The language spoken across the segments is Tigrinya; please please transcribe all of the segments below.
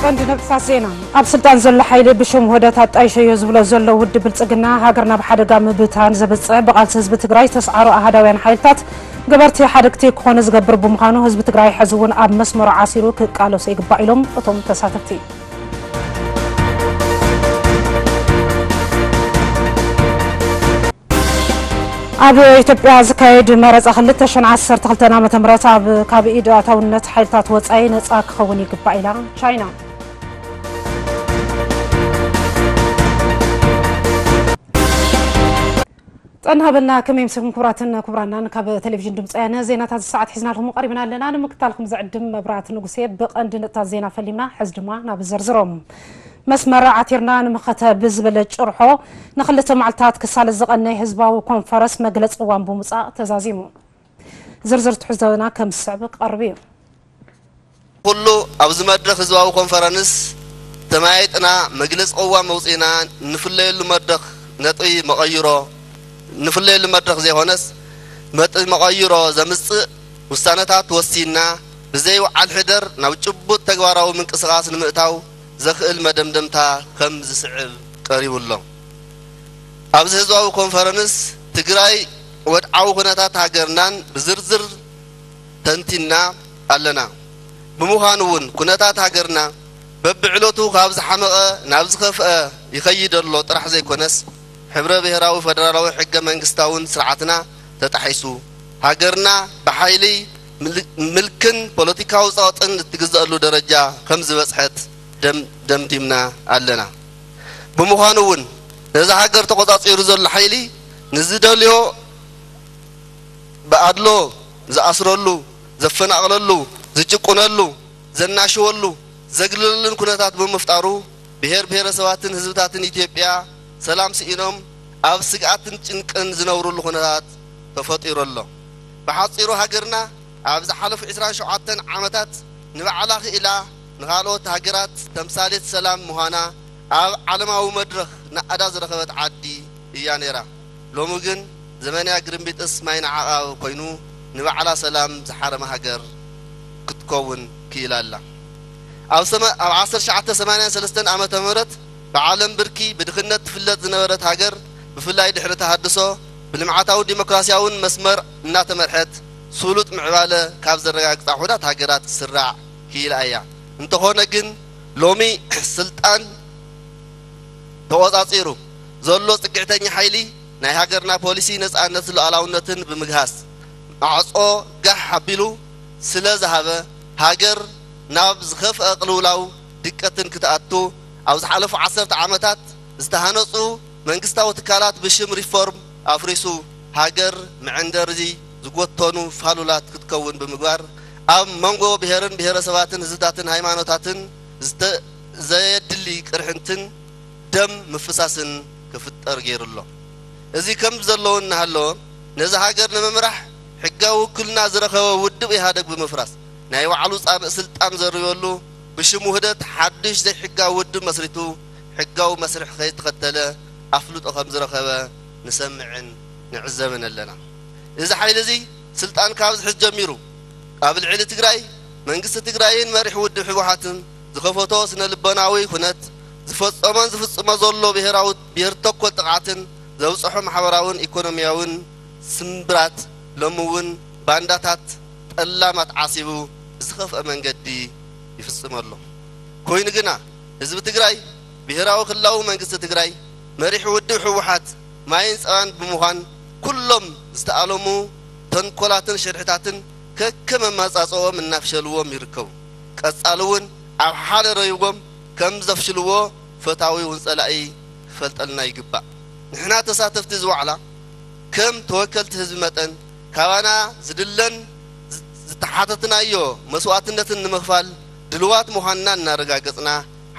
ቀንዲ ነጥብታት ዜና። ኣብ ስልጣን ዘሎ ሓይሊ ብሽም ውህደት ኣጣይሸዮ ዝብሎ ዘሎ ውድብ ብልጽግና፣ ሃገር ናብ ሓደጋ ምብታን ዘብጽሕ ብቓልሲ ህዝቢ ትግራይ ዝተስዓሩ ኣሃዳውያን ሓይልታት ገበርቲ ሓደግቲ ክኾኑ ዝገብር ብምዃኑ፣ ህዝቢ ትግራይ ሕዚ እውን ኣብ መስመሩ ዓሲሩ ክቃለሶ ይግባእ ኢሎም እቶም ተሳተፍቲ። ኣብ ኢትዮጵያ ዝካየድ መረጻ ክልተ ሽሕን ዓሰርተ ክልተን ዓመተ ምህረት ኣብ ካብ ኢድ ኣታውነት ሓይልታት ወጻኢ ነጻ ክኸውን ይግባእ ኢላ ቻይና። ጥዕና ሃበልና፣ ከመይ ምስልኩም ክቡራትን ክቡራናን? ካብ ቴሌቪዥን ድምፂ ወያነ ዜናታት ሰዓት ሒዝናልኩም ቀሪብና ኣለና። ንምክታልኩም ዝዕድም መብራት ንጉሴ። ብቐንዲ ነጥብታት ዜና ፈሊምና፣ ሕዚ ድማ ናብ ዝርዝሮም። መስመር ዓቲርና ንምኸተ ብዝበለ ጭርሖ ንክልተ መዓልታት ክሳለ ዝቐነይ ህዝባዊ ኮንፈረንስ መግለፂ እዋን ብምውፃእ ተዛዚሙ። ዝርዝር ትሕዝቶና ከም ዝስዕብ ክቐርብ እዩ። ኩሉ ኣብዚ መድረኽ ህዝባዊ ኮንፈረንስ ተመያይጥና መግለፂ ቅዋም መውፂእና፣ ንፍለየሉ መድረኽ ነጥቢ መቐይሮ፣ ንፍለየሉ መድረኽ ዘይኮነስ ነጥቢ መቐይሮ ዘምፅእ ውሳነታት ወሲንና፣ ብዘይ ውዓል ሕደር ናብ ጭቡጥ ተግባራዊ ምንቅስቓስ ንምእታው ዘኽእል መደምደምታ ከም ዝስዕብ ቀሪቡ ኣሎ። ኣብዚ ህዝባዊ ኮንፈረንስ ትግራይ ወድዓዊ ኩነታት ሃገርናን ብዝርዝር ተንቲና ኣለና። ብምዃኑ እውን ኩነታት ሃገርና በብዕለቱ ካብ ዝሓመቐ ናብ ዝኸፍአ ይኸይድ ኣሎ ጥራሕ ዘይኮነስ፣ ሕብረ ብሔራዊ ፈደራላዊ ሕገ መንግስታውን ስርዓትና ተጣሒሱ፣ ሃገርና ብሓይሊ ምል-፣ ምልክን ፖለቲካዊ ጸቕጥን እትግዘአሉ ደረጃ ከም ዝበጽሐት ደም-፣ ደምዲምና ኣለና። ብምዃኑ እውን ነዛ ሃገር ተቖጻጺሩ ዘሎ ሓይሊ ንዝደልዮ ብኣድሎ ዝኣስረሉ፣ ዘፈናቕለሉ፣ ዝጭቁነሉ፣ ዘናሽወሉ፣ ዘግልለሉን ኩነታት ብምፍጣሩ፣ ብሄር ብሄረሰባትን ህዝብታትን ኢትዮጵያ ሰላም ስኢኖም ኣብ ስግኣትን ጭንቅን ዝነብሩሉ ኩነታት ተፈጢሩ ኣሎ። ብሓጺሩ ሃገርና ኣብ ዝሓለፉ ዕስራን ሸውዓተን ዓመታት ንባዕላ ክኢላ ንኻልኦት ሃገራት ተምሳሌት ሰላም ምዃና ኣብ ዓለማዊ መድረኽ ናእዳ ዝረኸበት ዓዲ እያ ነይራ። ሎሚ ግን ዘመንያ ግርምቢጥስ ማይ ንዓቓብ ኮይኑ ንባዕላ ሰላም ዝሓረመ ሃገር ክትከውን ክኢላ ኣላ። ኣብ ሰመ-፣ ኣብ ዓሰርተ ትሽዓተ ሰማንያን ሰለስተን ዓመተ ምህረት ብዓለም ብርኪ ብድኽነት ትፍለጥ ዝነበረት ሃገር፣ ብፍላይ ድሕሪ ተሃድሶ፣ ብልምዓታውን ዲሞክራሲያውን መስመር እናተመርሐት፣ ስሉጥ ምዕባለ ካብ ዘረጋግጻ ውሑዳት ሃገራት ክትስራዕ ክኢላ እያ። እንተኾነ ግን፣ ሎሚ ስልጣን ተቖጻጺሩ ዘሎ ጽግዕተኛ ሓይሊ፣ ናይ ሃገርና ፖሊሲ ነጻነት ሉዓላውነትን ብምግሃስ፣ ማዕጾ ጋሕ ኣቢሉ ስለ ዝሃበ፣ ሃገር ናብ ዝኸፍአ ቅልውላው ድቀትን ክትኣቱ፣ ኣብ ዝሓለፉ ዓሰርተ ዓመታት ዝተሃነጹ መንግስታዊ ትካላት ብሽም ሪፎርም ኣፍሪሱ፣ ሃገር መዐንደሪ ዝጎተኑ ፋሉላት ክትከውን ብምግባር፣ ኣብ መንጎ ብሄርን ብሄረሰባትን ህዝብታትን ሃይማኖታትን ዝተ-፣ ዘየድሊ ቅርሕንትን ደም ምፍሳስን ክፍጠር ገይሩ ኣሎ። እዚ ከም ዘለዎ እናሃለወ፣ ነዚ ሃገር ንምምራሕ ሕጋዊ ውክልና ዝረኸበ ውድብ ኢህኣደግ ብምፍራስ፣ ናይ ባዕሉ ጻምእ ስልጣን ዘርበሉ፣ ብሽም ውህደት ሓድሽ ዘይሕጋዊ ውድብ መስሪቱ፣ ሕጋዊ መስርሕ ከይተኸተለ ኣፍልጦ ከም ዝረኸበ ንሰምዕን ንዕዘብን ኣለና። እዚ ሓይሊ እዚ ስልጣን ካብ ዝሕዝ ጀሚሩ፣ ኣብ ልዕሊ ትግራይ፣ መንግስቲ ትግራይን መሪሕ ውድብ ህወሓትን ዝኸፈቶ ስነ ልቦናዊ ኩነት፣ ዝፈጸሞን ዝፍጽሞ ዘሎ ብሄራዊ፣ ብሄር ተኮር ጥቕዓትን ዘብጽሖ ማሕበራውን ኢኮኖሚያውን ስምብራት፣ ሎሚ እውን ባንዳታት ጠላማት ዓሲቡ ብዝኸፍአ መንገዲ ይፍጽም ኣሎ። ኮይኑ ግና ህዝቢ ትግራይ፣ ብሄራዊ ክልላዊ መንግስቲ ትግራይ፣ መሪሕ ውድብ ህወሓት ማይን ጸባን ብምዃን፣ ኩሎም ዝተኣለሙ ተንኮላትን ሽርሕታትን ከከም ኣመጻጽኦም እናፍሸልዎም ይርከቡ። ቀጻሊ እውን ኣብ ሓደ ረይቦም ከም ዘፍሽልዎ ፈታዊ እውን ጸላኢ ክፈልጠልና ይግባእ። ንሕና ተሳተፍቲ እዚ ዋዕላ፣ ከም ተወከልቲ ህዝቢ መጠን፣ ካባና ዝድለን ዝ-፣ ዝተሓተትናዮ መስዋእትነትን ንምኽፋል ድልዋት ምዃንና እናረጋገጽና፣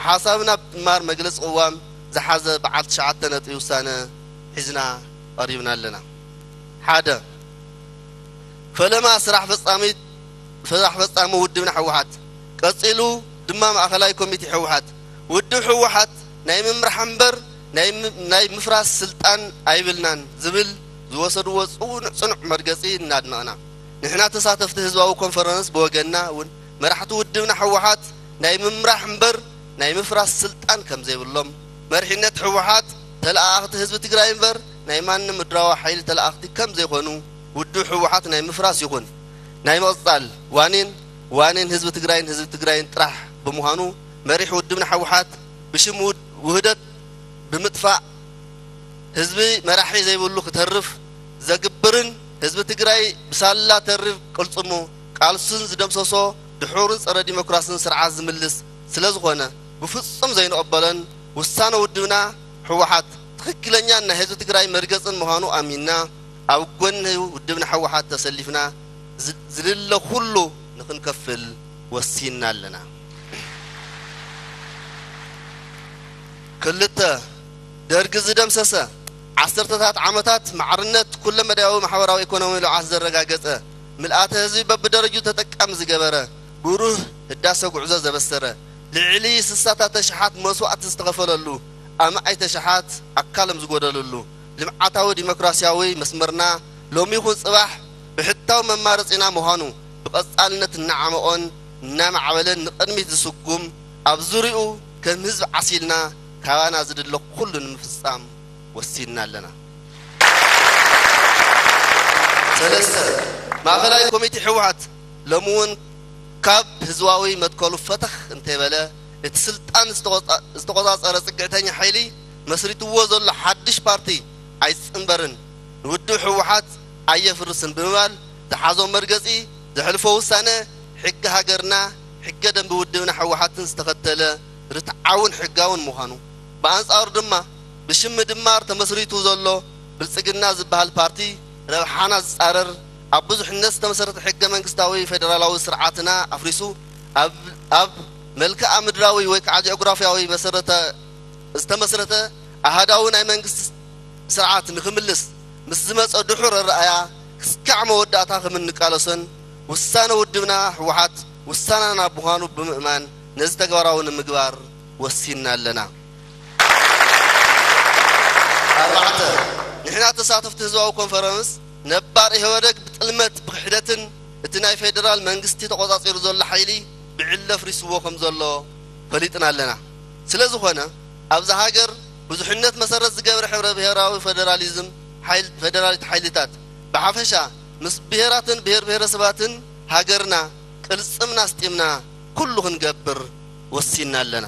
ሓሳብና ብምጥማር መግለጺ ቅዋም ዝሓዘ በዓል ትሽዓተ ነጥቢ ውሳነ ሒዝና ቀሪብና ኣለና። ሓደ፣ ፈለማ ስራሕ ፈጻሚት፣ ስራሕ ፈጻሚ ውድብና ህወሓት፣ ቀጺሉ ድማ ማእኸላይ ኮሚቴ ህወሓት፣ ውድብ ህወሓት ናይ ምምራሕ እምበር ናይ ም-፣ ናይ ምፍራስ ስልጣን ኣይብልናን ዝብል ዝወሰድዎ ጽኑዕ፣ ጽኑዕ መርገጺ እናድነቕና፣ ንሕና ተሳተፍቲ ህዝባዊ ኮንፈረንስ ብወገንና እውን መራሕቲ ውድብና ህወሓት ናይ ምምራሕ እምበር ናይ ምፍራስ ስልጣን ከም ዘይብሎም፣ መሪሕነት ህወሓት ተለኣኣኽቲ ህዝቢ ትግራይ እምበር ናይ ማንም ምድራዊ ሓይሊ ተለኣኣኽቲ ከም ዘይኾኑ፣ ውድብ ህወሓት ናይ ምፍራስ ይኹን ናይ ምቕጻል ዋኒን ዋኒን ህዝቢ ትግራይን ህዝቢ ትግራይን ጥራሕ ብምዃኑ፣ መሪሕ ውድብና ህወሓት ብሽም ውድ- ውህደት ብምጥፋእ፣ ህዝቢ መራሒ ዘይብሉ ክተርፍ ዘግብርን ህዝቢ ትግራይ ብሳላ ተሪር ቅልጽሙ ቃልሱን ዝደምሰሶ ድሑርን ጸረ ዲሞክራስን ስርዓት ዝምልስ ስለ ዝኾነ፣ ብፍጹም ዘይንቕበሎን ውሳነ ውድብና ህወሓት ትኽክለኛን ናይ ህዝቢ ትግራይ መርገጽን ምዃኑ ኣሚንና፣ ኣብ ጎኒ ውድብና ህወሓት ተሰሊፍና ዝ- ዝልለ ኩሉ ንኽንከፍል ወሲንና ኣለና። ክልተ፣ ደርጊ ዝደምሰሰ፣ ዓሰርተታት ዓመታት ማዕርነት ኩለመዳያዊ ማሕበራዊ ኢኮኖሚ ልምዓት ዘረጋገጸ፣ ምልኣተ ህዝቢ በብደረጁ ተጠቃሚ ዝገበረ፣ ብሩህ ህዳሰ ጉዕዞ ዘበሰረ፣ ልዕሊ ስሳታት ተሽሓት መስዋእቲ ዝተኸፈለሉ፣ ኣማኢተ ሽሓት ኣካሎም ዝጎደለሉ፣ ልምዓታዊ ዲሞክራሲያዊ መስመርና ሎሚ ይኹን ጽባሕ ብሕታዊ መማረጺና ምዃኑ ብቐጻልነት እናዓመቖን እናማዕበለን ንቕድሚት ዝስጉም፣ ኣብ ዙርያኡ ከም ህዝቢ ዓሲልና ካባና ዝድለ ኩሉ ንምፍጻም ወሲንና ኣለና። ሰለስተ፣ ማእኸላይ ኮሚቴ ህወሓት ሎሚ እውን ካብ ህዝባዊ መትከሉ ፈተኽ እንተይበለ፣ እቲ ስልጣን ዝተቖጻ- ዝተቖጻጸረ ጽግዕተኛ ሓይሊ መስሪትዎ ዘሎ ሓድሽ ፓርቲ ኣይጽንበርን፣ ንውድብ ህወሓት ኣየፍርስን ብምባል ዝሓዞ መርገጺ፣ ዘሕልፎ ውሳነ፣ ሕጊ ሃገርና፣ ሕገ ደንቢ ውድብና ህወሓትን ዝተኸተለ ርትዓውን ሕጋውን ምዃኑ፣ ብኣንጻሩ ድማ ብሽም ምድማር ተመስሪቱ ዘሎ ብልጽግና ዝበሃል ፓርቲ ረብሓና ዝጻረር፣ ኣብ ብዙሕነት ዝተመሰረተ ሕገ መንግስታዊ ፌደራላዊ ስርዓትና ኣፍሪሱ፣ ኣብ ኣብ መልክኣ ምድራዊ ወይ ከዓ ጂኦግራፊያዊ መሰረተ ዝተመስረተ ኣሃዳዊ ናይ መንግስቲ ስርዓት ንክምልስ ምስ ዝመፀ ድሑር ኣረኣያ ክስካዕ መወዳእታ ከም እንቃለሶን ውሳነ ውድብና ህወሓት ውሳናና ምዃኑ ብምእማን ነዚ ተግባራዊ ንምግባር ወሲንና ኣለና። ኣርባዕተ፣ ንሕና ተሳተፍቲ ህዝባዊ ኮንፈረንስ ነባር ኢህወደግ ብጥልመት ብክሕደትን እቲ ናይ ፌደራል መንግስቲ ተቆጻጺሩ ዘሎ ሓይሊ ብዕሊ ኣፍሪስዎ ከም ዘሎ ፈሊጥና ኣለና። ስለ ዝኾነ ኣብዛ ሃገር ብዙሕነት መሰረት ዝገበረ ሕብረ ብሔራዊ ፌደራሊዝም ሓይል- ፌደራሊት ሓይልታት ብሓፈሻ ምስ ብሔራትን ብሔር ብሔረሰባትን ሃገርና ቅልጽምና ኣስጢምና ኩሉ ክንገብር ወሲንና ኣለና።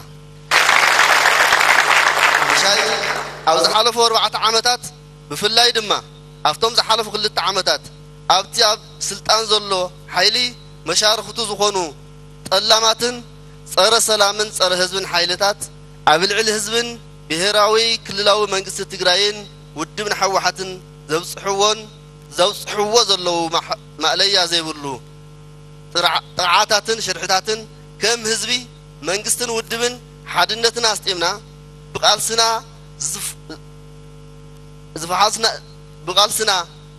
ምሻይ ኣብ ዝሓለፉ ኣርባዕተ ዓመታት ብፍላይ ድማ ኣብቶም ዝሓለፉ ክልተ ዓመታት ኣብቲ ኣብ ስልጣን ዘሎ ሓይሊ መሻርክቱ ዝኾኑ ጠላማትን ጸረ ሰላምን ጸረ ህዝብን ሓይልታት ኣብ ልዕሊ ህዝብን ብሔራዊ ክልላዊ መንግስቲ ትግራይን ውድብን ህወሓትን ዘብጽሕዎን ዘብጽሕዎ ዘለዉ ማሕ- ማእለያ ዘይብሉ ጥርዓ- ጥርዓታትን ሽርሕታትን ከም ህዝቢ መንግስትን ውድብን ሓድነትና ኣስጢምና ብቃልስና ዝፍ- ዝፈሓስና ብቃልስና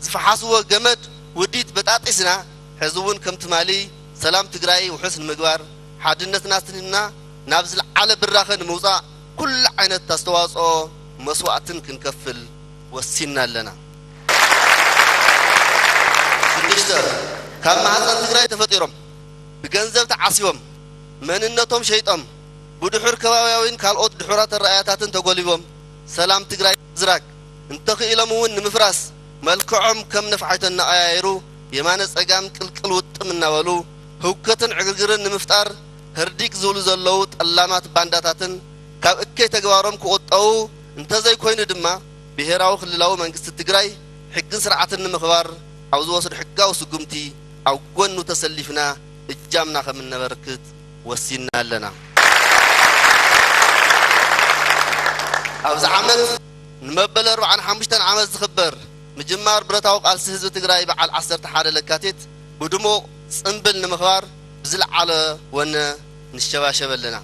ዝፈሓስዎ ገመድ ውዲት በጣጢስና ሕዚ እውን ከም ትማሊ ሰላም ትግራይ ውሑስ ንምግባር ሓድነትና ኣስቲምና ናብ ዝለዓለ ብራኸ ንምውፃእ ኩሉ ዓይነት ኣስተዋፅኦ መስዋእትን ክንከፍል ወሲንና ኣለና። ሽዱሽተ፣ ካብ ማህፀን ትግራይ ተፈጢሮም ብገንዘብ ተዓሲቦም መንነቶም ሸይጦም ብድሑር ከባብያዊን ካልኦት ድሑራት ኣረኣያታትን ተጎልቢቦም ሰላም ትግራይ ምዝራግ እንተኽኢሎም እውን ንምፍራስ መልክዖም ከም ነፋሒቶ እናቐያየሩ የማነ ፀጋም ቅልቅል ውጥም እናበሉ ህውከትን ዕግርግርን ንምፍጣር ህርዲግ ዝብሉ ዘለዉ ጠላማት ባንዳታትን ካብ እከይ ተግባሮም ክቑጠቡ እንተዘይኮይኑ ድማ ብሄራዊ ክልላዊ መንግስቲ ትግራይ ሕግን ስርዓትን ንምኽባር ኣብ ዝወስዶ ሕጋዊ ስጉምቲ ኣብ ጎኑ ተሰሊፍና እጃምና ከም እነበርክት ወሲንና ኣለና። ኣብዚ ዓመት ንመበል ኣርባዓን ሓሙሽተን ዓመት ዝኽበር ምጅማር ብረታዊ ቃልሲ ህዝቢ ትግራይ በዓል ዓሰርተ ሓደ ለካቲት ብድሙቕ ጽምብል ንምኽባር ብዝለዓለ ወነ ንሸባሸብ ኣለና።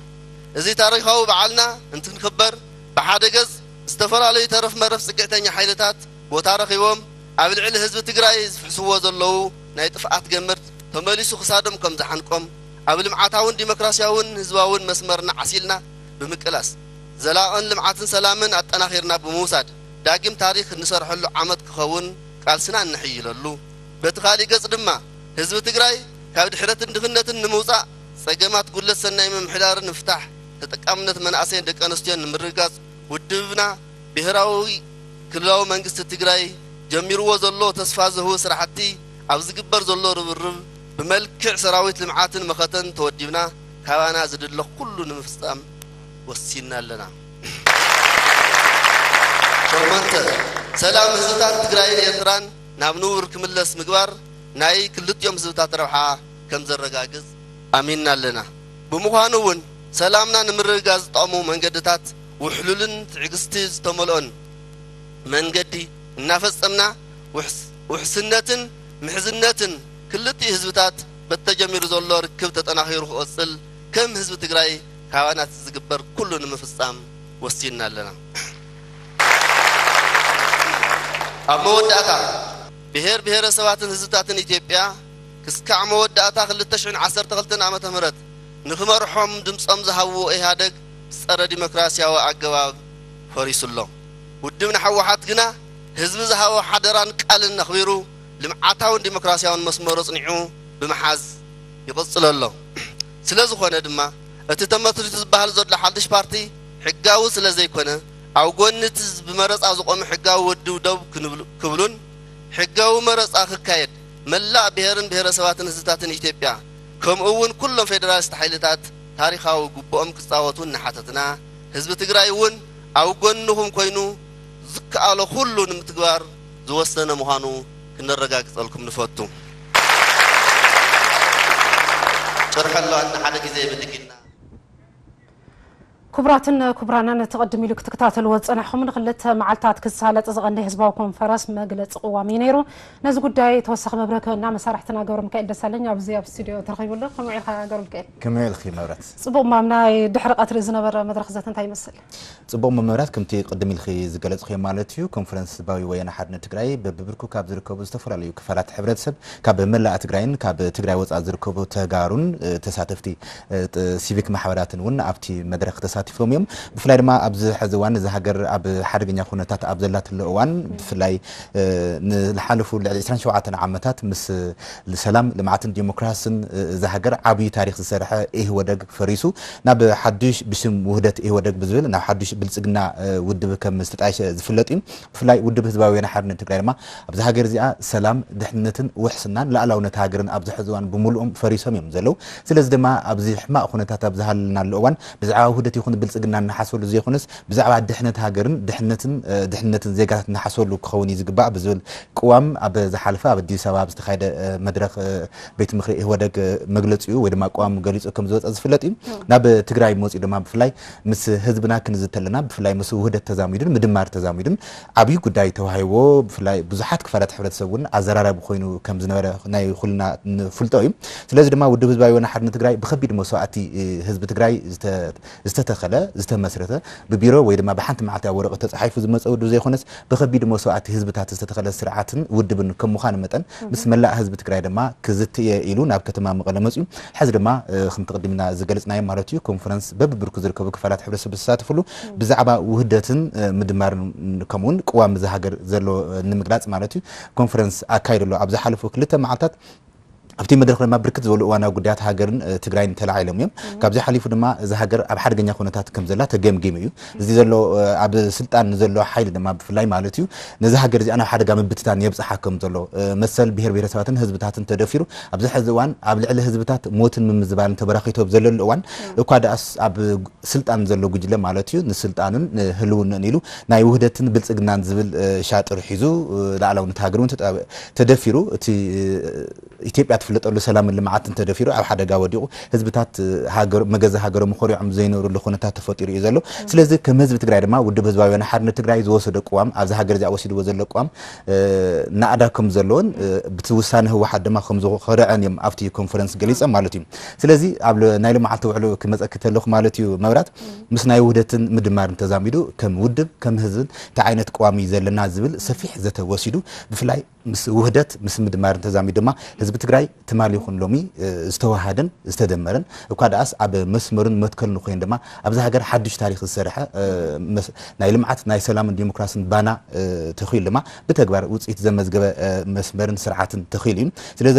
እዚ ታሪኻዊ በዓልና እንትንክበር ብሓደ ገጽ ዝተፈላለዩ ተረፍ መረፍ ጽግዕተኛ ሓይልታት ቦታ ረኺቦም ኣብ ልዕሊ ህዝቢ ትግራይ ዝፍሕስዎ ዘለዉ ናይ ጥፍኣት ገመድ ተመሊሱ ክሳዶም ከም ዝሓንቆም ኣብ ልምዓታውን ዲሞክራሲያውን ህዝባውን መስመርና ዓሲልና ብምቅላስ ዘላቕን ልምዓትን ሰላምን ኣጠናኺርና ብምውሳድ ዳግም ታሪኽ እንሰርሐሉ ዓመት ክኸውን ቃልስና እነሕይለሉ፣ በቲ ካሊእ ገጽ ድማ ህዝቢ ትግራይ ካብ ድሕረትን ድኽነትን ንምውፃእ ፀገማት ጉድለት ሰናይ ምምሕዳርን ንምፍታሕ ተጠቃምነት መናእሰይን ደቂ ኣንስትዮን ንምርግጋጽ ውድብና ብሄራዊ ክልላዊ መንግስቲ ትግራይ ጀሚርዎ ዘሎ ተስፋ ዝህቡ ስራሕቲ ኣብ ዝግበር ዘሎ ርብርብ ብመልክዕ ሰራዊት ልምዓትን መኸተን ተወዲብና ካባና ዝድለ ኩሉ ንምፍጻም ወሲንና ኣለና። ሸሞንተ፣ ሰላም ህዝብታት ትግራይን ኤርትራን ናብ ንቡር ክምለስ ምግባር ናይ ክልቲኦም ህዝብታት ረብሓ ከም ዘረጋግጽ ኣሚንና ኣለና። ብምዃኑ እውን ሰላምና ንምርግጋጽ ዝጠቕሙ መንገድታት ውሕሉልን ትዕግስቲ ዝተመልኦን መንገዲ እናፈጸምና ውሕስ-፣ ውሕስነትን ምሕዝነትን ክልቲኡ ህዝብታት በቲ ተጀሚሩ ዘሎ ርክብ ተጠናኺሩ ክቕጽል ከም ህዝቢ ትግራይ ካባና ዝግበር ኩሉ ንምፍጻም ወሲንና ኣለና። ኣብ መወዳእታ ብሄር ብሄረሰባትን ህዝብታትን ኢትዮጵያ ክስካዕ መወዳእታ ክልተ ሽሕን ዓሰርተ ክልተን ዓመተ ምህረት ንክመርሖም ድምጾም ዝሃብዎ ኢህኣደግ ብጸረ ዲሞክራሲያዊ ኣገባብ ፈሪሱ ኣሎ። ውድብና ህወሓት ግና ህዝቢ ዝሃቦ ሓደራን ቃልን ኣኽቢሩ ልምዓታውን ዲሞክራሲያውን መስመሩ ኣጽኒዑ ብምሓዝ ይቕጽል ኣሎ። ስለ ዝኾነ ድማ እቲ ተመስሪቱ ዝበሃል ዘሎ ሓድሽ ፓርቲ ሕጋዊ ስለ ዘይኮነ ኣብ ጎኒ እቲ ብመረጻ ዝቖመ ሕጋዊ ውድብ ደው ክንብሉ-፣ ክብሉን ሕጋዊ መረጻ ክካየድ መላእ ብሄርን ብሄረሰባትን ህዝብታትን ኢትዮጵያ ከምኡ እውን ኩሎም ፌደራሊስት ሓይልታት ታሪኻዊ ግቡኦም ክጻወቱ እናሓተትና ህዝቢ ትግራይ እውን ኣብ ጎንኹም ኮይኑ ዝከኣሎ ኩሉ ንምትግባር ዝወሰነ ምዃኑ ክነረጋግጸልኩም ንፈቱ። ጭርሖ ኣለዋ ሓደ ግዜ ብድግና። ክቡራትን ክቡራንን፣ እቲ ቅድም ኢሉ ክትከታተልዎ ዝጸናሕኩም ንክልተ መዓልታት ክሳለጥ ዝቐነየ ህዝባዊ ኮንፈረንስ መግለጺ ቅዋም እዩ ነይሩ። ነዚ ጉዳይ ተወሳኺ መብርሂ ክህበና መሳርሕትና ገብረ ሚካኤል ደሳለኝ ኣብዚ ኣብ ስቱድዮ ተረኺቡ ኣሎ። ከመይ ውዒልካ ገብረ ሚካኤል? ከመይ ውዒልኪ መብራት? ጽቡቕ እማም፣ ናይ ድሕሪ ቀትሪ ዝነበረ መድረኽ ዘተ እንታይ ይመስል? ጽቡቕ እሞ መብራት፣ ከምቲ ቅድም ኢልኺ ዝገለጽኽዮ ማለት እዩ፣ ኮንፈረንስ ህዝባዊ ወያነ ሓርነት ትግራይ በብብርኩ ካብ ዝርከቡ ዝተፈላለዩ ክፋላት ሕብረተሰብ ካብ መላእ ትግራይን ካብ ትግራይ ወጻኢ ዝርከቡ ተጋሩን፣ እ፣ ተሳተፍቲ፣ እ፣ ጥ-፣ ሲቪክ ማሕበራትን እውን ኣብቲ መድረኽ ተሳቲፎም እዮም። ብፍላይ ድማ ኣብዚ ሕዚ እዋን እዛ ሃገር ኣብ ሓደገኛ ኩነታት ኣብ ዘላትሉ እዋን፣ ብፍላይ፣ እ፣ ንዝሓለፉ ልዕሊ ዕስራን ሸውዓተን ዓመታት ምስ ሰላም፣ ልምዓትን ዲሞክራስን፣ እ፣ እዛ ሃገር ዓብዪ ታሪኽ ዝሰርሐ ኢህወደግ ፈሪሱ ናብ ሓዱሽ ብሽም ውህደት ኢህወደግ ብዝብል ናብ ሓዱሽ ብልጽግና፣ እ፣ ውድብ ከም ዝተጣየሸ ዝፍለጥ እዩ። ብፍላይ ውድብ ህዝባዊ ወያነ ሓርነት ትግራይ ድማ ኣብዛ ሃገር እዚኣ ሰላም፣ ድሕነትን ውሕስናን ሉኣላውነት ሃገርን ኣብዚ ሕዚ እዋን ብምሉኦም ፈሪሶም እዮም ዘለዉ። ስለዚ ድማ ኣብዚ ሕማቕ ኩነታት ኣብ ዝሃለናሉ እዋን ብዛዕባ ውህደት ይኹን ብልጽግና እናሓሰበሉ ዘይኮነስ ብዛዕባ ድሕነት ሃገርን ድሕነትን፣ እ፣ ድሕነትን ዜጋታት እናሓሰበሉ ክኸውን እዩ ዝግባእ ብዝብል ቅዋም ኣብ ዝሓለፈ ኣብ ኣዲስ ኣበባ ኣብ ዝተኻየደ፣ እ፣ መድረኽ፣ እ፣ ቤት ምኽሪ ኢህወደግ፣ እ፣ መግለጺኡ ወይ ድማ ቅዋም ገሊጹ ከም ዝወጸ ዝፍለጥ እዩ። ናብ ትግራይ መጺኡ ድማ ብፍላይ ምስ ህዝብና ክንዝተለና ብፍላይ ምስ ውህደት ተዛሚዱን ምድማር ተዛሚዱን ዓብዪ ጉዳይ ተዋሂቦ ብፍላይ ብዙሓት ክፋላት ሕብረተሰብ እውን ኣዘራራቢ ኮይኑ ከም ዝነበረ ናይ ኩልና ንፍልጦ እዩ። ስለዚ ድማ ውድብ ህዝባዊ ወያነ ሓርነት ትግራይ ብኸቢድ መስዋእቲ፣ እ፣ ህዝቢ ትግራይ ዝተ-፣ ዝተተኸለ፣ ዝተመስረተ፣ ብቢሮ ወይ ድማ ብሓንቲ መዓልቲ ኣብ ወረቐት ተጻሒፉ ዝመጸ ውድብ ዘይኮነስ ብኸቢድ መስዋእቲ ህዝብታት ዝተተኸለ ስርዓትን ውድብን ከም ምዃኑ መጠን ምስ መላእ ህዝቢ ትግራይ ድማ ክዝትየ ኢሉ ናብ ከተማ መቐለ መጺኡ። ሕዚ ድማ፣ እ፣ ከምቲ ቅድም ኢልና ዝገለጽናዮ ማለት እዩ፣ ኮንፈረንስ በብብርኩ ዝርከቡ ክፋላት ሕብረተሰብ ዝተሳተፍሉ ብዛዕባ ውህደትን፣ እ፣ ምድማርን ከምኡውን ቅዋም እዛ ሃገር ዘሎ፣ እ፣ ንምግላጽ ማለት እዩ ኮንፈረንስ ኣካይዱ ኣሎ። ኣብ ዝሓለፉ ክልተ መዓልታት ኣብቲ መድረኽ ድማ ብርክት ዝበሉ እዋናዊ ጉዳያት ሃገርን፣ እ፣ ትግራይን ተላዒሎም እዮም። ካብዚ ሓሊፉ ድማ እዛ ሃገር ኣብ ሓደገኛ ኩነታት ከም ዘላ ተገምጊሙ እዩ። እዚ ዘሎ፣ እ፣ ኣብ ስልጣን ንዘሎ ሓይሊ ድማ ብፍላይ ማለት እዩ ነዚ ሃገር እዚኣ ናብ ሓደጋ ምብትታን የብጽሓ ከም ዘሎ፣ እ፣ መሰል ብሄር ብሄረሰባትን ህዝብታትን ተደፊሩ ኣብዚ ሕዚ እዋን ኣብ ልዕሊ ህዝብታት ሞትን ምምዝባልን ተበራኺቱ ኣብ ዘለሉ እዋን እኳ ደኣስ ኣብ ስልጣን ዘሎ ጉጅለ ማለት እዩ ንስልጣኑን ንህልውንኡን ኢሉ ናይ ውህደትን ብልጽግናን ዝብል፣ እ፣ ሻጥር ሒዙ፣ እ፣ ሉኣላውነት ሃገር እውን ተጠ-፣ ተደፊሩ እቲ፣ እ፣ ኢትዮጵያ ትፍለጠሉ ሰላምን ልምዓትን ተደፊሩ ኣብ ሓደጋ ወዲቑ ህዝብታት፣ እ፣ ሃገር-፣ መገዛ ሃገሮም ኮሪዖም ዘይነብርሉ ኩነታት ተፈጢሩ እዩ ዘሎ። ስለዚ ከም ህዝቢ ትግራይ ድማ ውድብ ህዝባዊ ወያነ ሓርነት ትግራይ ዝወሰዶ ቅዋም ኣብዚ ሃገር እዚኣ ወሲድዎ ዘሎ ቅዋም፣ እ፣ ናእዳ ከም ዘለዎን፣ እ፣ ብቲ ውሳነ ህወሓት ድማ ከም ዝኾርዐን እዮም ኣብቲ ኮንፈረንስ ገሊጾም ማለት እዩ። ስለዚ ኣብ ለ-፣ ናይ ሎማዓልቲ ውዕሎ ክመጸኪ ተለኹ ማለት እዩ መብራት፣ ምስ ናይ ውህደትን ምድማርን ተዛሚዱ ከም ውድብ ከም ህዝብን እንታይ ዓይነት ቅዋም እዩ ዘለና ዝብል ሰፊሕ ዘተ ወሲዱ ብፍላይ ምስ ውህደት ምስ ምድማርን ተዛሚዱ ድማ ህዝቢ ትግራይ ትማሊ ይኹን ሎሚ ዝተዋሃደን ዝተደመረን እኳ ደኣስ ኣብ መስመሩን መትከሉን ኮይኑ ድማ ኣብዚ ሃገር ሓድሽ ታሪክ ዝሰርሐ ናይ ልምዓት ናይ ሰላምን ዲሞክራስን ባና ተኺሉ ድማ ብተግባር ውፅኢት ዘመዝገበ መስመርን ስርዓትን ተኺሉ እዩ። ስለዚ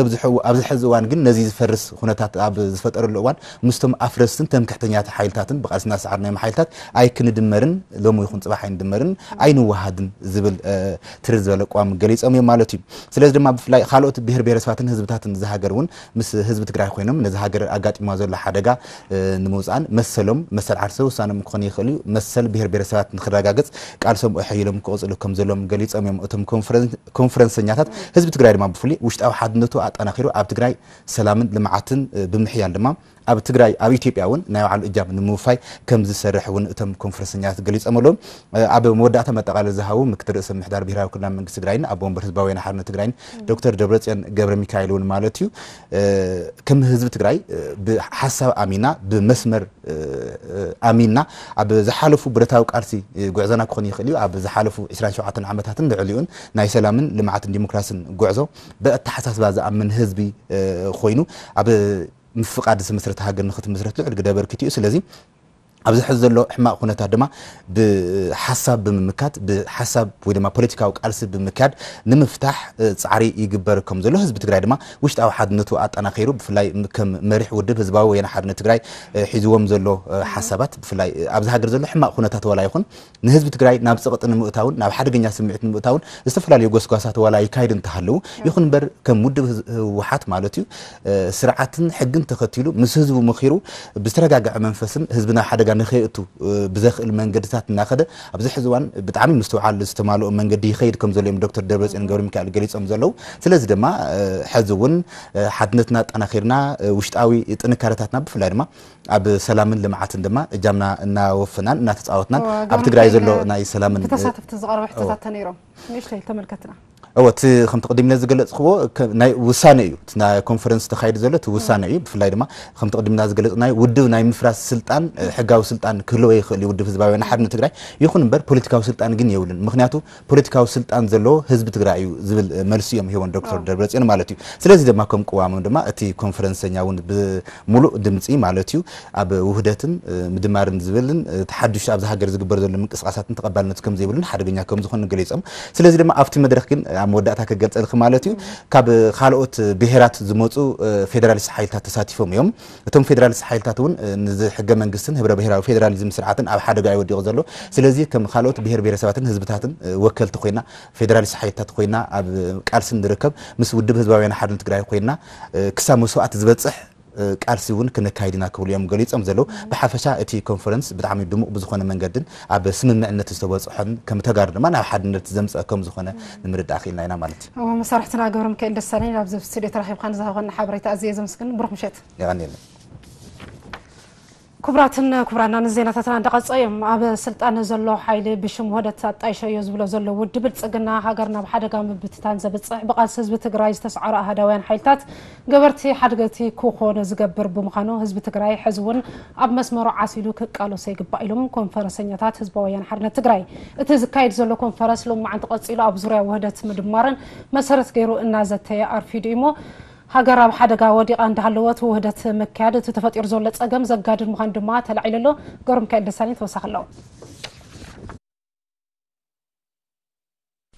ኣብዚ ሕዚ እዋን ግን ነዚ ዝፈርስ ኩነታት ኣብ ዝፈጠረሉ እዋን ምስቶም ኣፍረስትን ተምክሕተኛት ሓይልታትን ብቃልሲ እናሰዓርናዮም ሓይልታት ኣይክንድመርን ሎሚ ይኹን ፅባሕ ኣይንድመርን ኣይንወሃድን ዝብል ትርር ዝበለ ኣቋም ገሊፆም እዮም ማለት እዩ። ስለዚ ድማ ብፍላይ ካልኦት ብሄር ብሄረሰባትን ህዝብታትን እዚ ሃገር እውን ምስ ህዝቢ ትግራይ ኮይኖም ነዚ ሃገር ኣጋጢማ ዘሎ ሓደጋ ንምውፃእን መሰሎም መሰል ዓርሰ ውሳኖም ክኾን ይኽእል እዩ። መሰል ብሄር ብሄረሰባት ንክረጋገፅ ቃልሶም ኣሐይሎም ክቕፅሉ ከም ዘለዎም ገሊፆም እዮም እቶም ኮንፈረንሰኛታት። ህዝቢ ትግራይ ድማ ብፍሉይ ውሽጣዊ ሓድነቱ ኣጠናኺሩ ኣብ ትግራይ ሰላምን ልምዓትን ብምሕያል ድማ ኣብ ትግራይ ኣብ ኢትዮጵያ እውን ናይ ባዕሉ እጃም ንምውፋይ ከም ዝሰርሕ እውን እቶም ኮንፈረንሰኛታት ገሊፆም ኣለዉ። ኣብ መወዳእታ መጠቓለል ዝሃቡ ምክትል ርእሰ ምምሕዳር ብሄራዊ ክልላዊ መንግስቲ ትግራይን ኣቦ ወንበር ህዝባዊ ወያነ ሓርነት ትግራይን ዶክተር ደብረፅዮን ገብረ ሚካኤል እውን ማለት እዩ ከም ህዝቢ ትግራይ ብሓሳብ ኣሚና ብመስመር ኣሚና ኣብ ዝሓለፉ ብረታዊ ቃልሲ ጉዕዞና ክኾን ይኽእል እዩ ኣብ ዝሓለፉ ዕስራን ሸውዓተን ዓመታትን ልዕሊኡን ናይ ሰላምን ልምዓትን ዲሞክራስን ጉዕዞ ብኣተሓሳስባ ዝኣምን ህዝቢ ኮይኑ ኣብ ምፍቃድ ዝተመስረተ ሃገር ንክትመስረት ልዑል ግደ ኣበርኪቱ እዩ። ስለዚ ኣብዚ ሕዚ ዘሎ ሕማቕ ኩነታት ድማ ብሓሳብ ብምምካት ብሓሳብ ወይ ድማ ፖለቲካዊ ቃልሲ ብምክያድ ንምፍታሕ ፃዕሪ ይግበር ከም ዘሎ ህዝቢ ትግራይ ድማ ውሽጣዊ ሓድነቱ ኣጠናኺሩ ብፍላይ ከም መሪሕ ውድብ ህዝባዊ ወያነ ሓርነት ትግራይ ሒዝዎም ዘሎ ሓሳባት ብፍላይ ኣብዚ ሃገር ዘሎ ሕማቕ ኩነታት ዋላ ይኹን ንህዝቢ ትግራይ ናብ ፀቕጢ ንምእታውን ናብ ሓደገኛ ስምዒት ንምእታውን ዝተፈላለዩ ጎስጓሳት ዋላ ይካይዱ እንተሃለዉ ይኹን እምበር ከም ውድብ ህወሓት ማለት እዩ ስርዓትን ሕግን ተኸቲሉ ምስ ህዝቡ ምኺሩ ብዝተረጋገዐ መንፈስን ህዝቢ ናብ ሓደጋ ንኸየእቱ ብዘኽእል መንገድታት እናኸደ ኣብዚ ሕዚ እዋን ብጣዕሚ ምስትውዓል ዝተማልኦ መንገዲ ይኸይድ ከም ዘሎ እዮም ዶክተር ደብረፅዮን ገብረ ሚካኤል ገሊፆም ዘለዉ። ስለዚ ድማ ሕዚ እውን ሓድነትና ኣጠናኺርና ውሽጣዊ ጥንካረታትና ብፍላይ ድማ ኣብ ሰላምን ልምዓትን ድማ እጃምና እናወፈናን እናተፃወትናን ኣብ ትግራይ ዘሎ ናይ ሰላምን ተሳተፍቲ ዝቐረበ ሕቶታት ተነይሮም ንእሽተይ ተመልከትና። እወ እቲ ከምቲ ቅድም ኢለ ዝገለፅክዎ ናይ ውሳነ እዩ። እቲ ናይ ኮንፈረንስ ተካይዱ ዘሎ እቲ ውሳነ እዩ። ብፍላይ ድማ ከምቲ ቅድምና ዝገለፅ ናይ ውድብ ናይ ምፍራስ ስልጣን ሕጋዊ ስልጣን ክህልዎ ይኽእል እዩ ውድብ ህዝባዊ ሓርነት ትግራይ። ይኹን እምበር ፖለቲካዊ ስልጣን ግን የብሉን። ምክንያቱ ፖለቲካዊ ስልጣን ዘለዎ ህዝቢ ትግራይ እዩ ዝብል መልሲ እዮም ሂቦም ዶክተር ደብረፅዮን ማለት እዩ። ስለዚ ድማ ከም ቅዋሞም ድማ እቲ ኮንፈረንሰኛ እውን ብሙሉእ ድምፂ ማለት እዩ ኣብ ውህደትን ምድማርን ዝብልን እቲ ሓዱሽ ኣብዚ ሃገር ዝግበር ዘሎ ምንቅስቃሳትን ተቐባልነት ከም ዘይብሉን ሓደገኛ ከም ዝኾኑ ገሊፆም። ስለዚ ድማ ኣብቲ መድረክ ግን ኣብ መወዳእታ ክገልፀልክ ማለት እዩ ካብ ካልኦት ብሄራት ዝመፁ ፌደራሊስት ሓይልታት ተሳቲፎም እዮም። እቶም ፌደራሊስት ሓይልታት እውን ንዚ ሕገ መንግስትን ህብረ ብሄራዊ ፌደራሊዝም ስርዓትን ኣብ ሓደጋ እዩ ወዲቑ ዘሎ። ስለዚ ከም ካልኦት ብሄር ብሄረሰባትን ህዝብታትን ወከልቲ ኮይና ፌደራሊስት ሓይልታት ኮይና ኣብ ቃልሲ ንርከብ ምስ ውድብ ህዝባውያን ሓርነት ትግራይ ኮይና ክሳብ መስዋእቲ ዝበፅሕ ቃልሲ እውን ክነካይድ ኢና ክብሉ እዮም ገሊፆም ዘለዉ። ብሓፈሻ እቲ ኮንፈረንስ ብጣዕሚ ድሙቕ ብዝኾነ መንገድን ኣብ ስምምዕነት ዝተበፅሖን ከም ተጋሩ ድማ ናብ ሓድነት ዘምፀአ ከም ዝኾነ ንምርዳእ ክኢልና ኢና ማለት እዩ። እዎ መሳርሕትና ገብረ ሚካኤል ደሳለኝ ኣብዚ ስቱዲዮ ተራኺብካ ንዝሃበና ሓበሬታ ኣዝየ ዘመስግን። ብሩኽ ምሸት። የቐንየለይ። ክቡራትን ክቡራናን ዜናታትና እንዳቐጸ እዮም። ኣብ ስልጣን ዘሎ ሓይሊ ብሽም ውህደት ኣጣይሸዮ ዝብሎ ዘሎ ውድብ ብልጽግና ሃገር ናብ ሓደጋ ምብትታን ዘብጽሕ ብቓልሲ ህዝቢ ትግራይ ዝተስዓሩ ኣሃዳውያን ሓይልታት ገበርቲ ሓድገቲ ክኾኑ ዝገብር ብምዃኑ ህዝቢ ትግራይ ሕዚ እውን ኣብ መስመሩ ዓሲሉ ክቃለሶ ይግባእ ኢሎም ኮንፈረሰኛታት ህዝባዊ ወያነ ሓርነት ትግራይ። እቲ ዝካየድ ዘሎ ኮንፈረስ ሎማዓንቲ ቀጺሉ ኣብ ዙርያ ውህደት ምድማርን መሰረት ገይሩ እናዘተየ ኣርፊዱ እዩሞ ሃገር ኣብ ሓደጋ ወዲቓ እንዳሃለወት ውህደት ምክያድ እቲ ተፈጢሩ ዘሎ ጸገም ዘጋድድ ምዃኑ ድማ ተላዒሉ ኣሎ። ገብረሚካኤል ደሳለኝ ተወሳኺ ኣለዎ።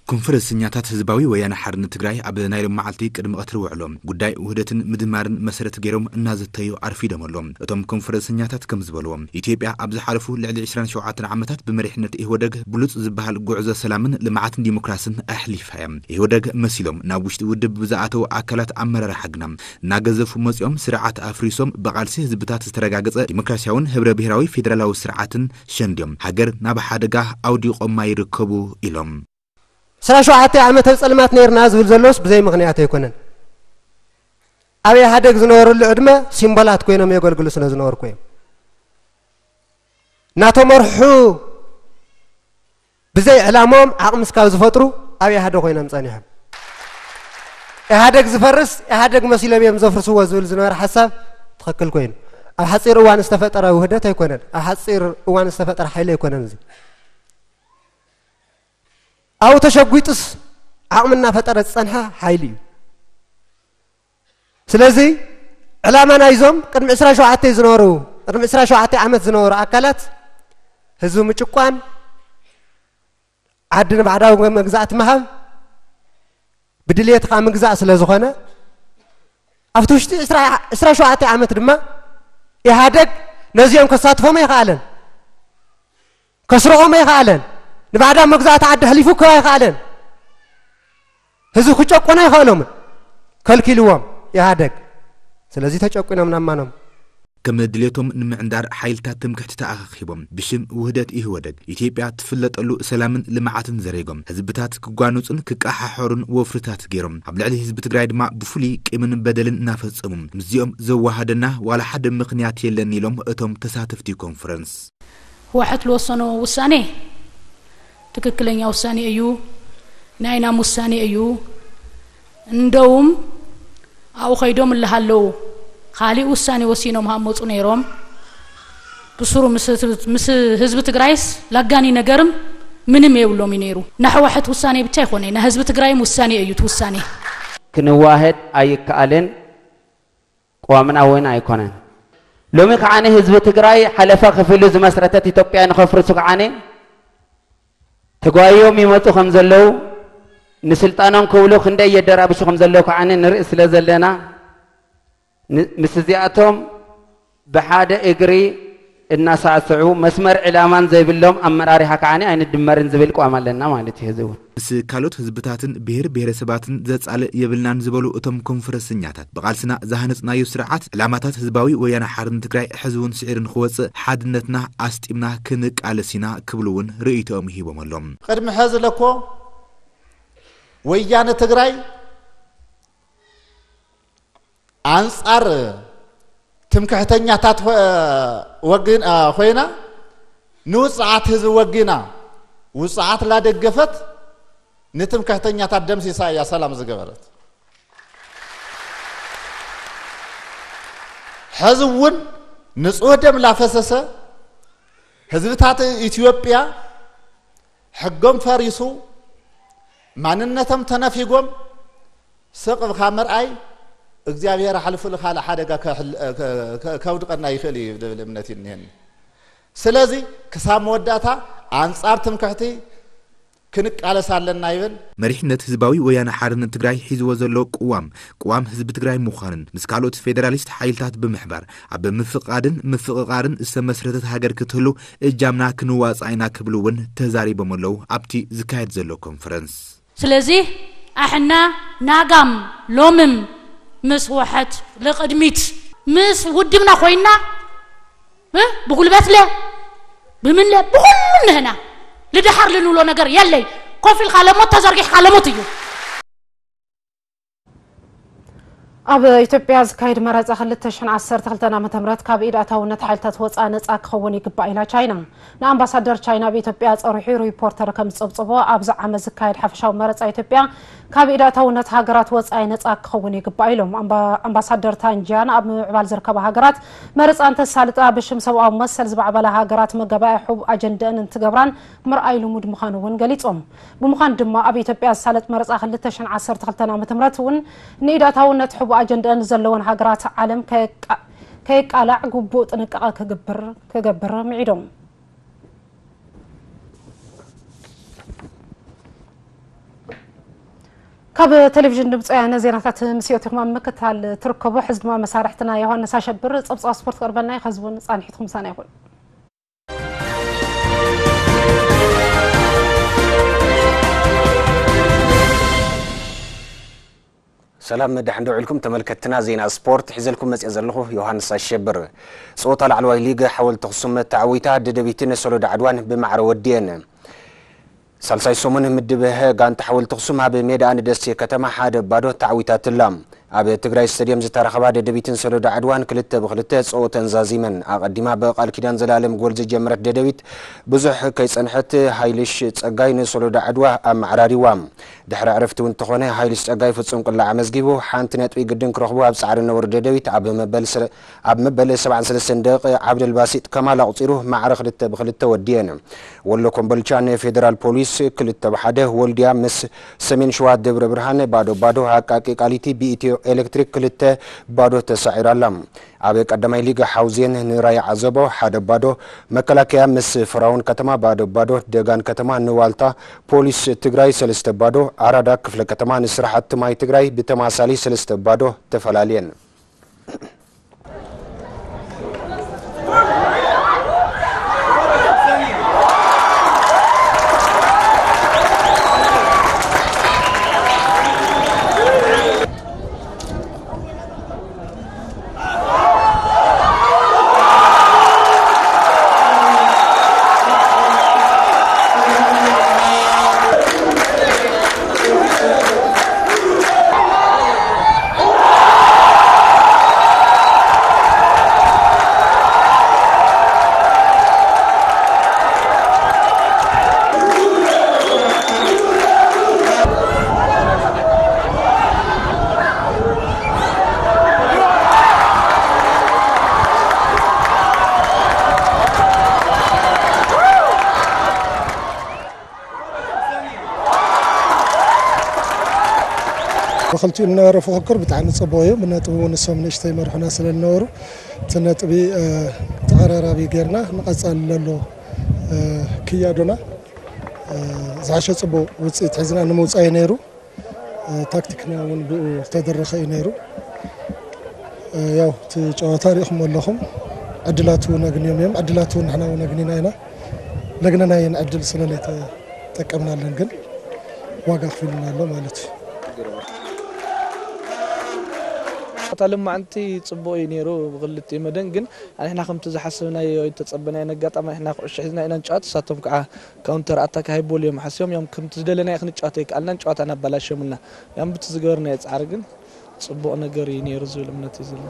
ኮንፈረንሰኛታት ህዝባዊ ወያነ ሓርነት ትግራይ ኣብ ናይ ሎም መዓልቲ ቅድሚ ቀትሪ ውዕሎም ጉዳይ ውህደትን ምድማርን መሰረት ገይሮም እናዘተዩ ኣርፊዶም ኣሎ። እቶም ኮንፈረንሰኛታት ከም ዝበልዎ ኢትዮጵያ ኣብ ዝሓለፉ ልዕሊ ዕስራን ሸውዓተን ዓመታት ብመሪሕነት ኢህወደግ ብሉፅ ዝበሃል ጉዕዞ ሰላምን ልምዓትን ዲሞክራስን ኣሕሊፋ እያ። ኢህወደግ መሲሎም ናብ ውሽጢ ውድብ ብዝኣተው ኣካላት ኣመራርሓ ግና እናገዘፉ መፂኦም ስርዓት ኣፍሪሶም ብቓልሲ ህዝብታት ዝተረጋገፀ ዲሞክራሲያውን ህብረ ብሄራዊ ፌዴራላዊ ስርዓትን ሸንድዮም ሃገር ናብ ሓደጋ ኣውዲቖማ ይርከቡ ኢሎም። ዕስራን ሸውዓተን ዓመት ኣብ ፀልማት ነይርና ዝብል ዘሎስ ብዘይ ምኽንያት ኣይኮነን። ኣብ ኢህኣደግ ዝነበረሉ ዕድመ ሲምቦላት ኮይኖም የገልግሉ ስለ ዝነበርኩ እዮም። እናተመርሑ ብዘይ ዕላምኦም ዓቕሚ እስካብ ዝፈጥሩ ኣብ ኢህኣደግ ኮይኖም ጸኒሖም። ኢህኣደግ ዝፈርስ ኢህኣደግ መሲሎም እዮም ዘፍርስዎ ዝብል ዝነበረ ሓሳብ ትኽክል ኮይኑ ኣብ ሓፂር እዋን ዝተፈጠረ ውህደት ኣይኮነን። ኣብ ሓፂር እዋን ዝተፈጠረ ሓይሊ ኣይኮነን። እዚ ኣብኡ ተሸጒጡስ ዓቕሚ እናፈጠረ ዝጸንሐ ሓይሊ እዩ። ስለዚ ዕላማ ናይዞም ቅድሚ ዕስራ ሸውዓተ ዝነበሩ፣ ቅድሚ ዕስራ ሸውዓተ ዓመት ዝነበሩ ኣካላት ህዝቢ ምጭቋን፣ ዓዲ ንባዕዳዊ መግዛእቲ ምሃብ፣ ብድልየትኻ ምግዛእ ስለ ዝኾነ፣ ኣብቲ ውሽጢ ዕስራ፣ ዕስራ ሸውዓተ ዓመት ድማ ኢህኣደግ ነዚኦም ከሳትፎም ኣይኸኣለን፣ ከስርቖም ኣይኸኣለን፣ ንባዕዳዊ መግዛእቲ ዓዲ ኣሕሊፉ ክህብ ኣይኸኣለን። ህዝቢ ክጨቁን ኣይኸእሎምን፣ ከልኪልዎም ኢህኣደግ። ስለዚ ተጨቁኖም ናብ ማኖም። ከም ድሌቶም ንምዕንዳር ሓይልታት ትምክሕቲ ተኣኻኺቦም ብሽም ውህደት ኢህወደግ ኢትዮጵያ ትፍለጠሉ ሰላምን ልምዓትን ዘሬጎም ህዝብታት ክጓነጹን ክቀሓሐሩን ወፍርታት ገይሮም። ኣብ ልዕሊ ህዝቢ ትግራይ ድማ ብፍሉይ ቂምን በደልን እናፈጸሙ ምስዚኦም ዘወሃደና ዋላ ሓደ ምኽንያት የለን ኢሎም እቶም ተሳተፍቲ ኮንፈረንስ። ህወሓት ልወሰኖ ውሳኔ ትክክለኛ ውሳኔ እዩ፣ ናይ ናም ውሳኔ እዩ። እንደውም ኣብኡ ኸይዶም እልሃለዉ ካሊእ ውሳኔ ወሲኖም ሃመፁ ነይሮም። ብስሩ ምስ ህዝቢ፣ ምስ ህዝቢ ትግራይስ ላጋኒ ነገርም ምንም የብሎም እዩ ነይሩ። ናይ ህወሓት ውሳኔ ብቻ ኣይኮነ፣ ናይ ህዝቢ ትግራይም ውሳኔ እዩ እቲ ውሳኔ። ክንዋሃድ ኣይከኣልን፣ ቅዋምና እውን ኣይኮነን። ሎሚ ከዓኒ ህዝቢ ትግራይ ሓለፋ ከፊሉ ዝመስረተት ኢትዮጵያ ንኸፍርሱ ከዓኒ ተጓዮም ይመፁ ከም ዘለዉ፣ ንስልጣኖም ክብሉ ክንደይ የደራብሹ ከም ዘለዉ ከዓኒ ንርኢ ስለ ዘለና፣ ን-፣ ምስ እዚኣቶም ብሓደ እግሪ እናሳዕስዑ መስመር ዕላማን ዘይብሎም ኣመራሪሓ ከዓኒ ኣይንድመርን ዝብል ቅዋም ኣለና ማለት እዩ። እዚ እውን ምስ ካልኦት ህዝብታትን ብሄር ብሄረሰባትን ዘጻልእ የብልናን ዝበሉ እቶም ኮንፈረንሰኛታት፣ ብቓልስና ዝሃነጽናዮ ስርዓት ዕላማታት ህዝባዊ ወያነ ሓርነት ትግራይ ሕዚ እውን ስዒሩ ንኽወጽእ ሓድነትና ኣስጢምና ክንቃለስ ኢና ክብሉ እውን ርእይቶኦም ሂቦም ኣለዉ። ቅድሚ ሐዚ ለኮ ወያነ ትግራይ ኣንጻር ትምክሕተኛታት ኾ-፣ ወግን-፣ አ፣ ኮይና ንውጽዓት ህዝቢ ወጊና ውጽዓት ላደገፈት ንትምክሕተኛታት ደምሲሳ እያ ሰላም ዝገበረት። ሕዚ እውን ንጹህ ደም ላፈሰሰ ህዝብታት ኢትዮጵያ ሕጎም ፈሪሱ ማንነቶም ተነፊጎም ስቕ ኢልካ ምርኣይ እግዚኣብሔር ኣሕልፉ ንኻልእ ሓደጋ ከሕል-፣ ከ-፣ ከ-፣ ከውድቐና ይኽእል እዩ ዝብል እምነት እዩ እኒሀኒ። ስለዚ ክሳብ መወዳእታ ኣንጻር ትምክሕቲ ክንቃለስ ኣለና ይብል። መሪሕነት ህዝባዊ ወያነ ሓርነት ትግራይ ሒዝዎ ዘሎ ቅዋም፣ ቅዋም ህዝቢ ትግራይ ምዃንን ምስ ካልኦት ፌደራሊስት ሓይልታት ብምሕባር ኣብ ምፍቓድን ምፍቕቓርን ዝተመስረተት ሃገር ክትህሉ እጃምና ክንዋፃእ ኢና ክብሉ እውን ተዛሪቦም ኣለዉ ኣብቲ ዝካየድ ዘሎ ኮንፈረንስ። ስለዚ ኣሕና ናጋም ሎምም ምስ ህወሓት ልቕድሚት ምስ ውድብና ኮይና እ ብጉልበትለ ብምንለ ብኹሉ ንህና ልድሓር ልንብሎ ነገር የለይ። ኮፍ ኢልካ ለሞት ተዘርጊሕካ ለሞት እዩ። ኣብ ኢትዮጵያ ዝካየድ መረጻ ክልተ ሽሕን ዓሰርተ ክልተን ዓመተ ምህረት ካብ ኢድ ኣታውነት ሓይልታት ወጻኢ ነጻ ክኸውን ይግባእ ኢላ ቻይና። ንኣምባሳደር ቻይና ኣብ ኢትዮጵያ ጸሪሑ ሪፖርተር ከም ዝጸብጸቦ ኣብዚ ዓመት ዝካየድ ሓፈሻዊ መረጻ ኢትዮጵያ ካብ ኢድ ኣታውነት ሃገራት ወጻኢ ነጻ ክኸውን ይግባእ ኢሎም። ኣምባ-፣ ኣምባሳደር ታንጂያን ኣብ ምምዕባል ዝርከባ ሃገራት መረጻ እንተሳልጣ ብሽም ሰብኣዊ መሰል ዝማዕበላ ሃገራት መጋባእያ ሕቡእ ኣጀንደአን እንትገብራን ምርኣይ ልሙድ ምዃኑ እውን ገሊጾም። ብምዃኑ ድማ ኣብ ኢትዮጵያ ዝሳለጥ መረጻ ክልተ ሽሕን ዓሰርተ ክልተን ዓመተ ምህረት እውን ንኢድ ኣታውነት ሕቡእ ኣጀንደአን ዘለወን ሃገራት ዓለም ከየቃ-፣ ከየቃላዕ ግቡእ ጥንቃቐ ክግብር፣ ክገብር ምዒዶም። ካብ ቴሌቪዥን ድምፂ ወያነ ዜናታት ምስ ኢትኹም ኣብ ምክትታል ትርከቡ። ሕዚ ድማ መሳርሕትና ዮሃንስ ኣሸብር ፀብፃብ ስፖርት ክቕርበልና እዩ። ከዚ እውን ፃንሒትኩም ምሳና ይኹን። ሰላም፣ ደሕን ዶ ውዒልኩም ተመልከትትና። ዜና ስፖርት ሒዘልኩም መፅየ ዘለኹ ዮሃንስ ኣሸብር። ፀወታ ላዕለዋይ ሊግ ሓወልቲ ኣኽሱም ተዓዊታ፣ ደደቢትን ሶሎዳ ዓድዋን ብማዕረ ወዲኤን። ሳልሳይ ሰሙን ምድብ ሀ ጋንታ ሓወልቲ ኣኽሱም ኣብ ሜዳኣ ንደሴ ከተማ ሓደ ባዶ ተዓዊታትላ። ኣብ ትግራይ ስቴድየም ዝተራኸባ ደደቢትን ሶሎዳ ዓድዋን ክልተ ብክልተ ፀወተን ዛዚመን። ኣቐዲማ ብቃል ኪዳን ዘላለም ጎል ዝጀመረት ደደቢት ብዙሕ ከይፀንሐት ሃይልሽ ፀጋይ ንሶሎዳ ዓድዋ ኣመዓራሪዋ። ድሕሪ ዕረፍቲ እውን እንተኾነ፣ ሃይልሽ ጸጋይ ፍጹም ቅላዕ ኣመዝጊቡ፣ ሓንቲ ነጥቢ ግድን ክረኽቡ ኣብ ጻዕሪ ነበሩ ደደቢት ኣብ መበል ስረ-፣ ኣብ መበል ሰብዓን ሰለስተን ደቂቕ ዓብደልባሲጥ ከማል ኣቑጺሩ ማዕረ ክልተ ብክልተ ወዲኤን። ወሎ ኮምቦልቻ ንፌደራል ፖሊስ ክልተ ብሓደ፣ ወልድያ ምስ ሰሜን ሸዋ ደብረ ብርሃን ባዶ ባዶ፣ ኣቃቂ ቃሊቲ ብኢትዮ ኤሌክትሪክ ክልተ ባዶ ተሳዒራ ኣላ። ኣብ ቀዳማይ ሊግ ሓውዜን ንራያ ዓዘቦ ሓደ ባዶ፣ መከላከያ ምስ ፍራውን ከተማ ባዶ ባዶ፣ ደጋን ከተማ ንዋልታ ፖሊስ ትግራይ ሰለስተ ባዶ፣ ኣራዳ ክፍለ ከተማ ንስራሕቲ ማይ ትግራይ ብተማሳሊ ሰለስተ ባዶ ተፈላልየን። ብክልቲኡ ዝነበረ ፍክክር ብጣዕሚ ጽቡቕ እዩ። ብነጥቢ እውን ንሶም ንእሽተይ መርሑና ስለ ዝነበሩ፣ እቲ ነጥቢ፣ እ፣ ተቐራራቢ ጌርና ንቐጻሊ ዘሎ፣ እ፣ ክያዶና፣ እ፣ ዝሓሸ ጽቡቕ ውጽኢት ሒዝና ንምውጻእ እዩ ነይሩ። እ፣ ታክቲክና እውን ብኡ ዝተደረኸ እዩ ነይሩ። እ፣ ያው እቲ ጨዋታ ሪኢኹም ኣለኹም። ዕድላቱ ነግንዮም እዮም። ዕድላቱ ንሕና እውን ነግኒና ኢና። ለግነናየን ዕድል ስለ ዘይተጠቀምናለን ግን ዋጋ ኣኽፊሉና ኣሎ ማለት እዩ። ኣታ ልማዕንቲ ጽቡቕ እዩ ነይሩ ብክልቲኡ መደን፣ ግን ንሕና ከምቲ ዝሓሰብናዮ ዝተጸበናዮ ኣጋጣሚ ንሕና ኩዕሾ ሒዝና ኢና ንጫወት፣ እሳቶም ከዓ ካውንተር ኣታክ ሃይቦል እዮም ሓስዮም፣ እዮም ከምቲ ዝደለናዮ ክንጫወት ኣይከኣልናን፣ ጨዋታ እናበላሸሙልና እዮም። ብቲ ዝገበርናዮ ጻዕሪ ግን ጽቡቕ ነገር እዩ ነይሩ ዝብል እምነት እዩ ዘሎ።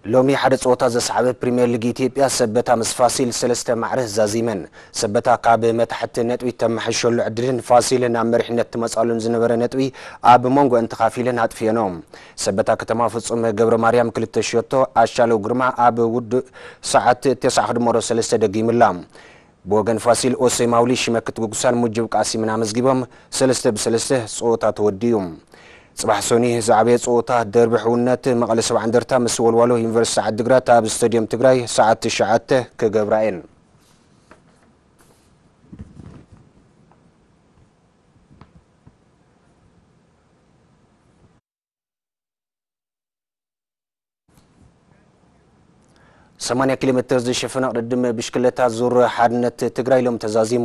ሎሚ ሓደ ጸወታ ዘስዓበ ፕሪምየር ሊግ ኢትዮጵያ፣ ሰበታ ምስ ፋሲል ሰለስተ ማዕረ ዛዚመን። ሰበታ ካብ መታሕቲ ነጥቢ ተመሓይሸሉ ዕድልን ፋሲል ናብ መሪሕነት ትመጻሉን ዝነበረ ነጥቢ ኣብ መንጎ እንተኻፊለን ኣጥፊኤኖ። ሰበታ ከተማ ፍጹም ገብረ ማርያም ክልተ ሸቶ፣ ኣሻለው ግርማ ኣብ ውዱእ ሰዓት ተስዓ ክድመሮ ሰለስተ ደጊምላ። ብወገን ፋሲል ኦሴ ማውሊ፣ ሽመክት ጉጉሳን ሙጅብ ቃሲምን ኣመዝጊቦም ሰለስተ ብሰለስተ ጸወታ ተወዲኡ። ጽባሕ ሶኒ ዝዓበየ ጸወታ ደርቢ ሕውነት መቐለ ሰብዓ እንደርታ ምስ ወልዋሎ ዩኒቨርሲቲ ዓድግራት ኣብ ስታድዮም ትግራይ ሰዓት ትሽዓተ ክገብራ እየን። ሰማንያ ኪሎ ሜትር ዝሽፍን ቅድድም ብሽክለታ ዙር ሓድነት ትግራይ ሎም ተዛዚሙ።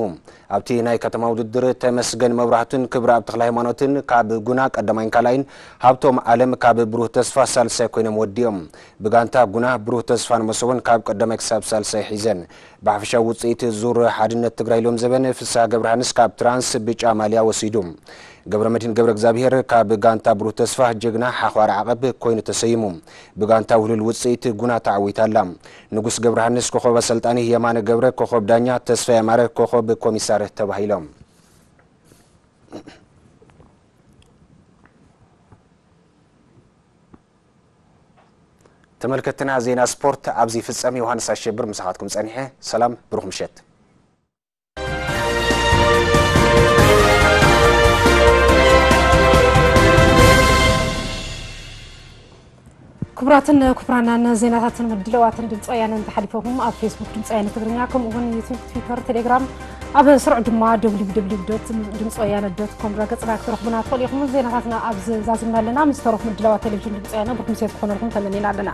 ኣብቲ ናይ ከተማ ውድድር ተመስገን መብራህቱን ክብረኣብ ተክለ ሃይማኖትን ካብ ጉና ቀዳማይን ካልኣይን፣ ሃብቶም ኣለም ካብ ብሩህ ተስፋ ሳልሳይ ኮይኖም ወዲኦም። ብጋንታ ጉና ብሩህ ተስፋን መሶቦን ካብ ቀዳማይ ክሳብ ሳልሳይ ሒዘን። ብሓፈሻዊ ውፅኢት ዙር ሓድነት ትግራይ ሎም ዘበን ፍስሃ ገብረሃንስ ካብ ትራንስ ብጫ ማልያ ወሲዱ። ገብረመድህን ገብረ እግዚኣብሔር ካብ ጋንታ ብሩህ ተስፋ ጀግና ሓዃር ዓቐብ ኮይኑ ተሰይሙ። ብጋንታ ውህሉል ውጽኢት ጉና ተዓዊታ ኣላ። ንጉስ ገብረሃንስ ኮኸብ ኣሰልጣኒ፣ የማነ ገብረ ኮኸብ ዳኛ፣ ተስፋ የማረ ኮኸብ ኮሚሳር ተባሂሎም። ተመልከትና ዜና ስፖርት ኣብዚ ይፍጸም። ዮሃንስ ኣሸብር ምሳኻትኩም ጸኒሐ። ሰላም፣ ብሩኽ ምሸት። ክቡራትን ክቡራናን ዜናታትን ምድለዋትን ድምፂ ወያነ እንተሓሊፈኩም ኣብ ፌስቡክ ድምፂ ወያነ ትግርኛ ከምኡ እውን ዩቱብ፣ ትዊተር፣ ቴሌግራም ኣብ ስሩዕ ድማ ደብሊው ደብሊው ደብሊው ዶት ድምፂ ወያነ ዶት ኮም ድረገፅና ክትረኽቡና ትኽእሉ ኢኹም። ዜናታትና ኣብዚ ዛዚምና ኣለና። ምስ ተረፉ ምድለዋት ቴሌቪዥን ድምፂ ወያነ ብሩኽ ምሴት ክኾነልኩም ተመኒና ኣለና።